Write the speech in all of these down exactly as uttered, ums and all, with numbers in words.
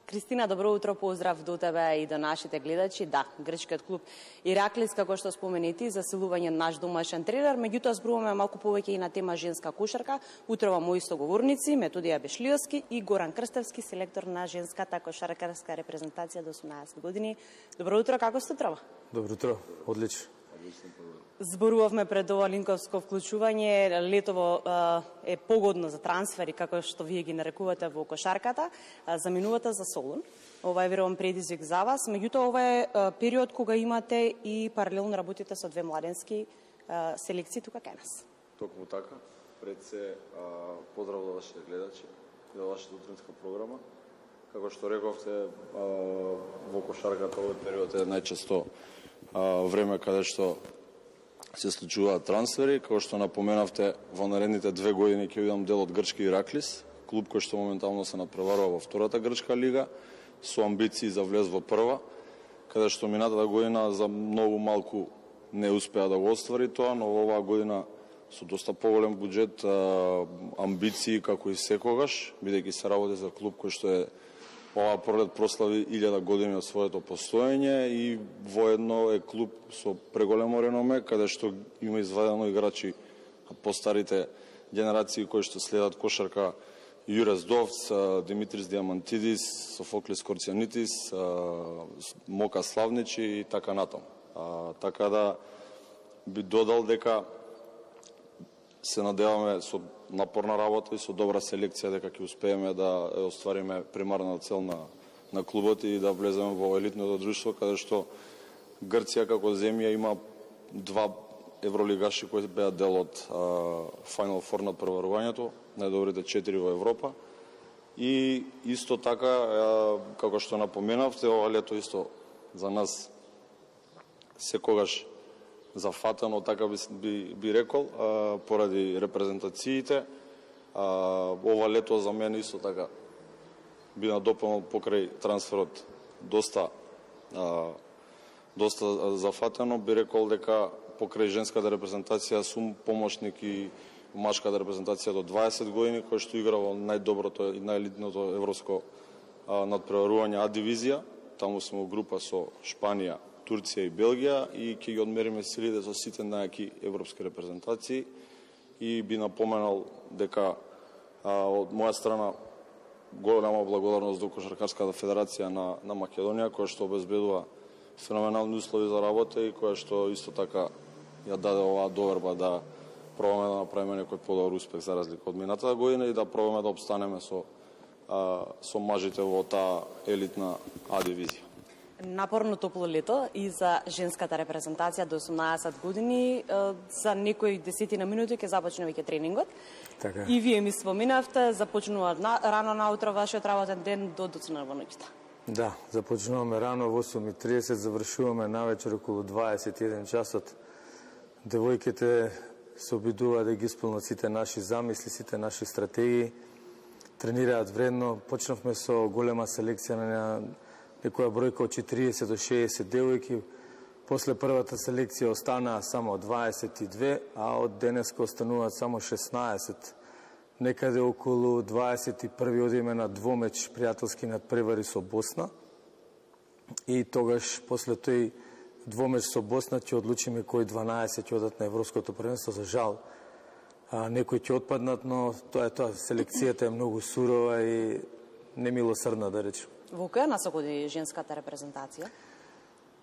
Кристина, добро утро, поздрав до тебе и до нашите гледачи. Да, грчкиот клуб Ираклис, како што споменети, засилување наш домашен тренер, меѓутоа зборуваме малку повеќе и на тема женска кошарка. Утрово мои соговорници, Методија Бешлиовски и Горан Крстевски, селектор на женската кошаркарска репрезентација до осумнаесет години. Добро утро, како сте утрово? Добро утро, одлично. Зборувавме пред ова линковско вклучување. Летово е погодно за трансфери, како што вие ги нарекувате во кошарката. Заминувате за Солун. Ова е верувам предизвик за вас. Меѓутоа, ова е период кога имате и паралелно работите со две младенски селекции тука кај нас. Токму така. Пред се поздрав до вашите гледачи и до вашата утринска програма. Како што рековте, во кошарката овој период е најчесто време каде што се случуваат трансфери. Како што напоменавте, во наредните две години ќе видам дел од грчки Ираклис, клуб кој што моментално се напреварува во втората грчка лига, со амбиции за влез во прва, каде што минатата година за многу малку не успеа да го оствари тоа, но оваа година со доста поголем буџет, амбиции како и секогаш, бидејќи се работи за клуб кој што е оваа пролет прослави илјада години од своето постоење и воедно е клуб со преголемо реноме, каде што има извадено играчи по старите генерации кои што следат кошарка: Јурес Довц, Димитрис Диамантидис, Софоклис Корцијанитис, Мока Славничи и така натаму. Така да би додал дека се надеваме со напорна работа и со добра селекција дека ќе успееме да оствариме примарна цел на, на клубот и да влеземе во елитното друштво, каде што Грција како земја има два евролигаши кои беа дел од Final Four на преварувањето, најдобрите четири во Европа. И исто така, како што напоменавте, ова лето исто за нас секогаш зафатено, така би, би, би рекол, а, поради репрезентациите. А, ова лето за мене исто така би надополнил покрај трансферот доста а, доста зафатено. Би рекол дека покрај женската репрезентација сум помошник и машката репрезентација до дваесет години, кој што игра во најдоброто и најелитното европско а, надпреварување А дивизија. Таму сме во група со Шпанија, Турција и Белгија и ќе ги одмериме силите со сите најаки европски репрезентации. И би напоменал дека а, од моја страна голема благодарност до Кошаркарската федерација на, на Македонија, која што обезбедува феноменални услови за работа и која што исто така ја даде оваа доверба да пробаме да направиме некој подобар успех за разлика од минатата година и да пробаме да обстанеме со, а, со мажите во таа елитна А дивизија. Напорно топло лето и за женската репрезентација до осумнаесет години. За некои десетина минути ќе започне веќе тренингот. Така. И вие ми споминавте, започнува на, рано наутро вашиот работен ден до доцна во ноќта. Да, започнуваме рано во осум и тридесет, завршуваме навечер околу дваесет и еден часот. Девојките се обидуваат да ги исполнат сите наши замисли, сите наши стратегии. Тренираат вредно. Почнавме со голема селекција на некоја бројка од четириесет до шеесет девојки. После првата селекција останаа само дваесет и две, а од денеска остануваат само шеснаесет. Некаде околу дваесет и први одиме на двомеч пријателски надпревари со Босна. И тогаш, после тој двомеч со Босна, ќе одлучиме кои дванаесет ќе одат на Европското првенство. За жал, а, некои ќе отпаднат, но тоа е тоа. Селекцијата е многу сурова и немилосрдна, да речем. Во која насока оди женската репрезентација?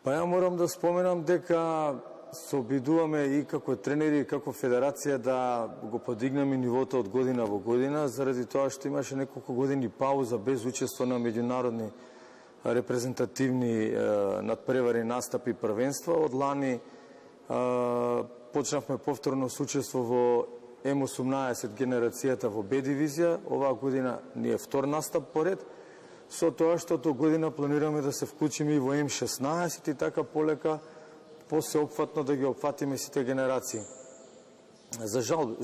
Па ја морам да споменам дека се обидуваме и како тренери и како федерација да го подигнеме нивото од година во година, заради тоа што имаше неколку години пауза без учество на меѓународни репрезентативни е, надпревари, настапи и првенства. Од лани е, почнавме повторно со учество во Ем осумнаесет генерацијата во Б дивизија. Оваа година ни е втор настап поред. Со тоа што до година планираме да се вклучиме и во Ем шеснаесет и така полека посеопфатно да ги опфатиме сите генерации. За жал,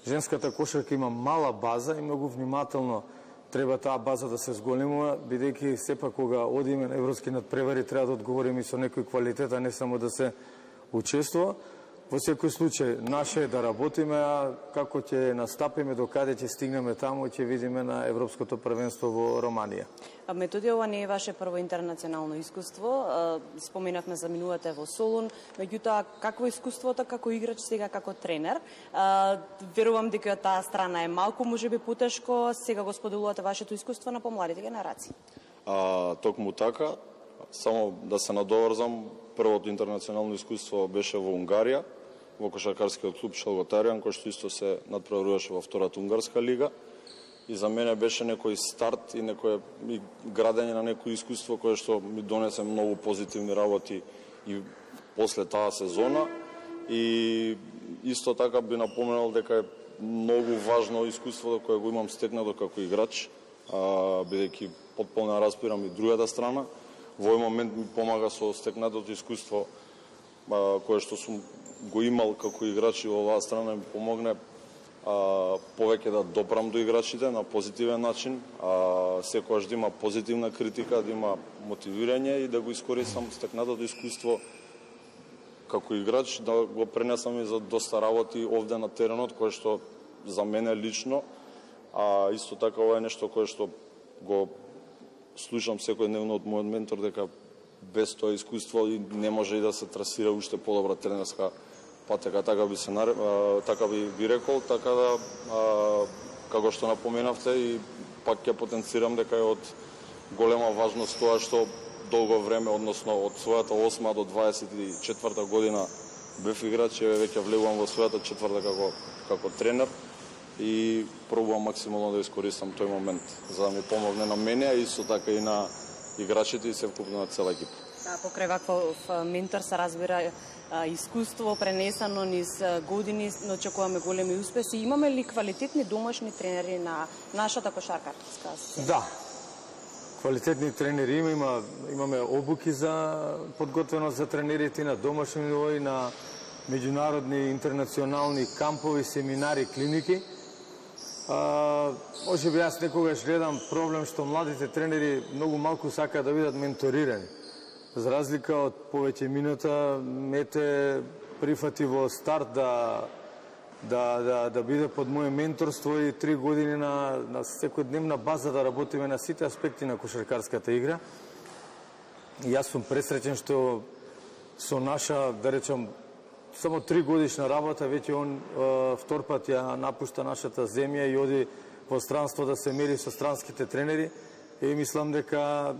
женската кошарка има мала база и многу внимателно треба таа база да се зголемува, бидејќи сепак кога одиме на европски надпревари треба да одговориме и со некој квалитет, а не само да се учествува. Во секој случај, наше е да работиме, а како ќе настапиме, до каде ќе стигнеме таму, ќе видиме на Европското првенство во Романија. Методи, ова не е ваше прво интернационално искуство. Споменавме за минувате во Солун, меѓутоа какво искуството како играч, сега како тренер? Верувам дека таа страна е малку можеби потешко, сега го споделувате вашето искуство на помладите генерации. А, токму така, само да се надоврзам, првото интернационално искуство беше во Унгарија, во кошаркарскиот клуб Шалготаријан, кој што исто се надпреваруваше во втората унгарска лига. И за мене беше некој старт и некој и градење на некој искуство кое што ми донесе многу позитивни работи и после таа сезона. И исто така би напоменал дека е многу важно искуството кое го имам стекнато како играч, бидејќи потполно разбирам и другата страна. Во овој момент ми помага со стекнатото искуство а, кое што сум го имал како играч и во оваа страна ми помогне а, повеќе да допрам до играчите на позитивен начин, а, секогаш да има позитивна критика, да има мотивирање и да го искористам стекнатото искуство како играч, да го пренесам и за доста работи овде на теренот, кое што за мене лично, а исто така ова е нешто кое што го слушам секојдневно од мојот ментор, дека без тоа искуство и не може и да се трасира уште подобра тренерска патека, така би се така би би рекол, така да а, како што напоменавте и пак ќе потенцирам дека е од голема важност тоа што долго време, односно од својата осма до дваесет и четврта година бев играч, и веќе влегувам во својата четврта како како тренер и пробувам максимално да искористам тој момент за да ми помогне на мене, а исто така и на играчите и севкупно на цела екипа. Да, покрај ваков ментор се разбира а, искуство пренесено низ години, но очекуваме големи успеси. Имаме ли квалитетни домашни тренери на нашата кошаркарска сцена? Да. Квалитетни тренери има, има имаме обуки за подготвеност за тренерите на домашни ниво и на меѓународни интернационални кампови, семинари, клиники. А, може би јас некогаш гледам проблем што младите тренери многу малку сакаат да бидат менторирани. За разлика од повеќе минута, Мете прифати во старт да да да да биде под моје менторство и три години на на секојдневна база да работиме на сите аспекти на кошаркарската игра. И јас сум пресреќен што со наша, да речам, само три годишна работа, веќе он е, втор пат ја напушта нашата земја и оди во странство да се мери со странските тренери. И мислам дека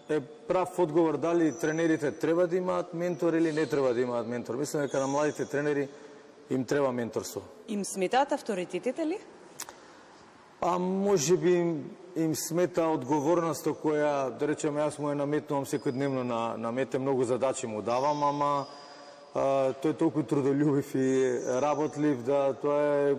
е прав одговор дали тренерите треба да имаат ментор или не треба да имаат ментор. Мислам дека на младите тренери им треба менторство. Им сметаат авторитетите ли? А може би им, им смета одговорноста која, да речеме, јас му ја наметнувам секојдневно на, на Мете, многу задачи му давам, ама а, тој е толку трудолюбив и работлив да тоа е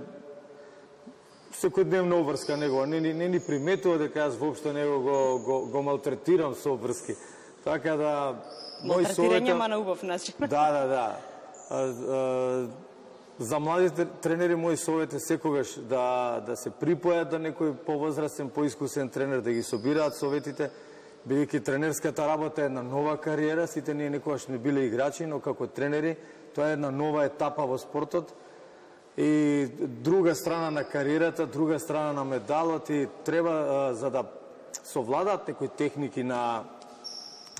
секојдневна обврска негова. Не, не, не ни приметува дека јас воопшто него го, го, го малтретирам со обврски. Така да... Малтретирање, ма на убав начин. Да, да, да. А, а, за младите тренери мој совет е секогаш да, да се припојат до некој повозрастен, поискусен тренер, да ги собираат советите, бидејќи тренерската работа е една нова кариера, сите ние некогаш не биле играчи, но како тренери тоа е една нова етапа во спортот и друга страна на кариерата, друга страна на медалот и треба за да совладаат некои техники на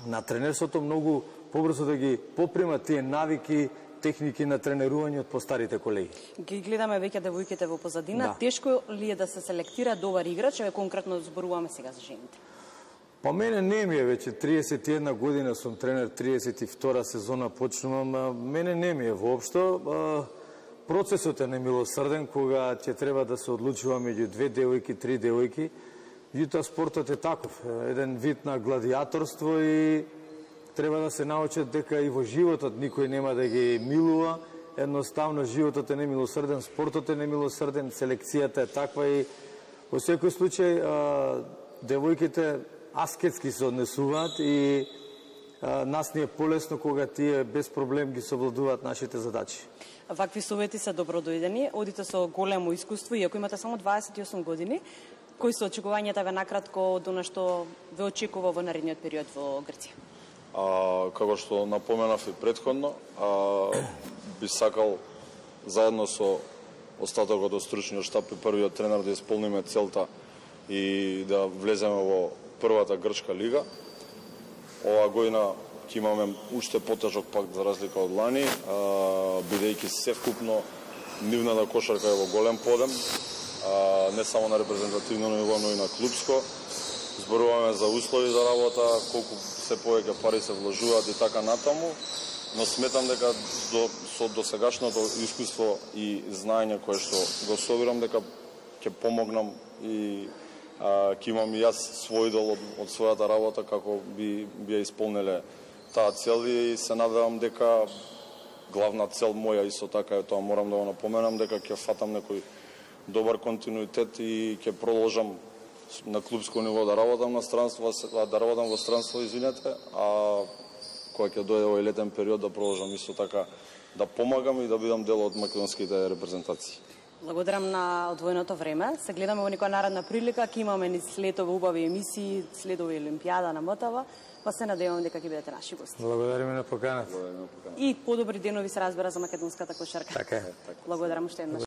на тренерството многу побрзо да ги попримат тие навики, техники на тренерување од постарите колеги. Ги гледаме веќе девојките во позадина. Да. Тешко ли е да се селектира добар играч? Еве конкретно зборуваме сега за жените. Па мене не ми е веќе триесет и една година сум тренер, триесет и втора сезона почнувам, а мене не ми е воопшто. Процесот е немилосрден кога ќе треба да се одлучува меѓу две девојки, три девојки. Меѓутоа спортот е таков, еден вид на гладиаторство и треба да се научат дека и во животот никој нема да ги милува. Едноставно животот е немилосрден, спортот е немилосрден, селекцијата е таква и во секој случај а, девојките аскетски се однесуваат и а, нас ни е полесно кога тие без проблем ги совладуваат нашите задачи. Вакви совети се добродојдени, одите со големо искуство, иако имате само дваесет и осум години. Кои се очекувањата ве накратко до на што ве очекува во наредниот период во Грција? А, како што напоменав и претходно, а, би сакал заедно со остатокот од стручниот штаб и првиот тренер да исполниме целта и да влеземе во првата грчка лига. Ова година ќе имаме уште потежок пак за разлика од лани, бидејќи севкупно нивната кошарка е во голем подем, не само на репрезентативно ниво, но и на клубско. Зборуваме за услови за работа, колку се повеќе пари се вложуваат и така натаму, но сметам дека до, со досегашното искуство и знаење кое што го собирам, дека ќе помогнам и а, ќе имам и јас свој дел од, од својата работа како би, би ја исполнеле таа цел и се надевам дека главна цел моја исто така е тоа, морам да го напоменам, дека ќе фатам некој добар континуитет и ќе продолжам на клубско ниво да работам на странство, да работам во странство, извинете, а кога ќе дојде овој летен период да продолжам исто така да помагам и да бидам дел од македонските репрезентации. Благодарам на одвоеното време. Се гледаме во некоја наредна прилика, ќе имаме ни следови убави емисии, следови Олимпијада на МТВ, па се надевам дека ќе бидете наши гости. Благодариме на поканата. И подобри денови се разбира за македонската кошарка. Така е. Благодарам уште еднаш.